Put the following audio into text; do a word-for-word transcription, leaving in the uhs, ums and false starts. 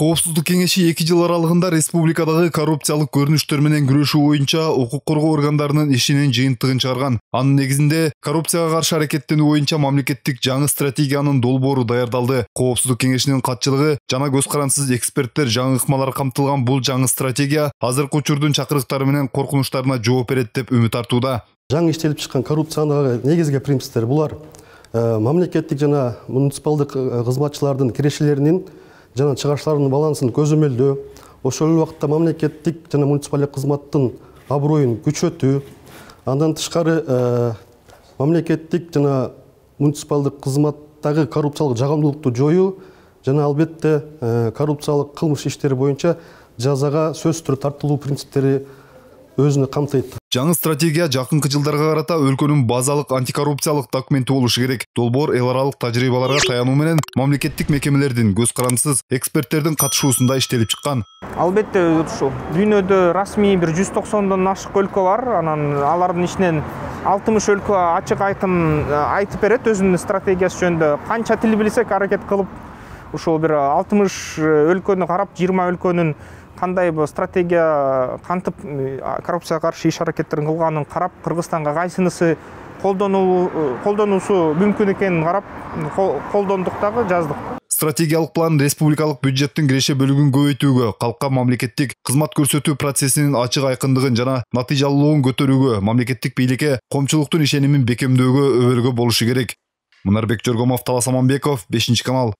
Коопсуздук кеңеши эки жыл аралыгында республикадагы коррупциялык көрүнүштөр менен күрөшүү боюнча укук коргоо органдарынын ишинин жыйынтыгын чыгарган. Анын негизинде коррупцияга каршы аракеттенүү боюнча мамлекеттик жаңы стратегиянын долбоору даярдалды. Коопсуздук кеңешинин катчылыгы жана көз карансыз эксперттер жаңы ыкмалар камтылган бул жаңы стратегия азыркы учурдун чакырыктары менен коркунучтарына жооп берет деп үмүт артууда. Жаңы иштелип чыккан коррупциянын негизги принциптери булар мамлекеттик жана муниципалдык кызматчылардын кирешелеринин жана чыгыштарынын балансын көзөмөлдөө, ошол эле убакытта мамлекеттик жана муниципалдык кызматтын аброюн күчөтүү, андан тышкары мамлекеттик жана муниципалдык кызматтагы коррупциялык жагымдуулукту жоюу жана албетте коррупциялык кылмыш иштери боюнча жазага сөзсүз түрдө тартылуу принциптери өзүнө камтыйт. Жаңы стратегия жакынкы жылдарга карата өлкөнүн базалык антикоррупциялык документи болушу керек. Долбоор эл аралык тажрыйбаларга таянуу менен мамлекеттик мекемелердин көз карансыз эксперттердин катышуусунда иштелип чыккан. Албетте ушул дүйнөдө расмий бир жүз токсондон ашык өлкө бар. Анан алардын ичинен алтымыш өлкө ачык айкын айтып берет өзүнүн стратегиясы жөнүндө. Канча тил билсек аракет кылып ушул бир алтымыш өлкөнү карап, жыйырма өлкөнүн кандай бу стратегия кантип коррупцияга каршы иш аракеттерин кылганын карап, Кыргызстанга кайсынысы колдонуу колдонуусу мүмкүн экенин карап, колдондук дагы жаздык. Стратегиялык план республикалык бюджеттин киреше бөлүгүн көбөйтүүгө, калкка мамлекеттик кызмат көрсөтүү процессинин ачык айкындыгын жана натыйжалуулугун көтөрүүгө, мамлекеттик бийликке коомчулуктун ишенимин бекемдөөгө өбөлгө болушу керек. Мунарбек Жоргомов, Талас Аманбеков, бешинчи канал.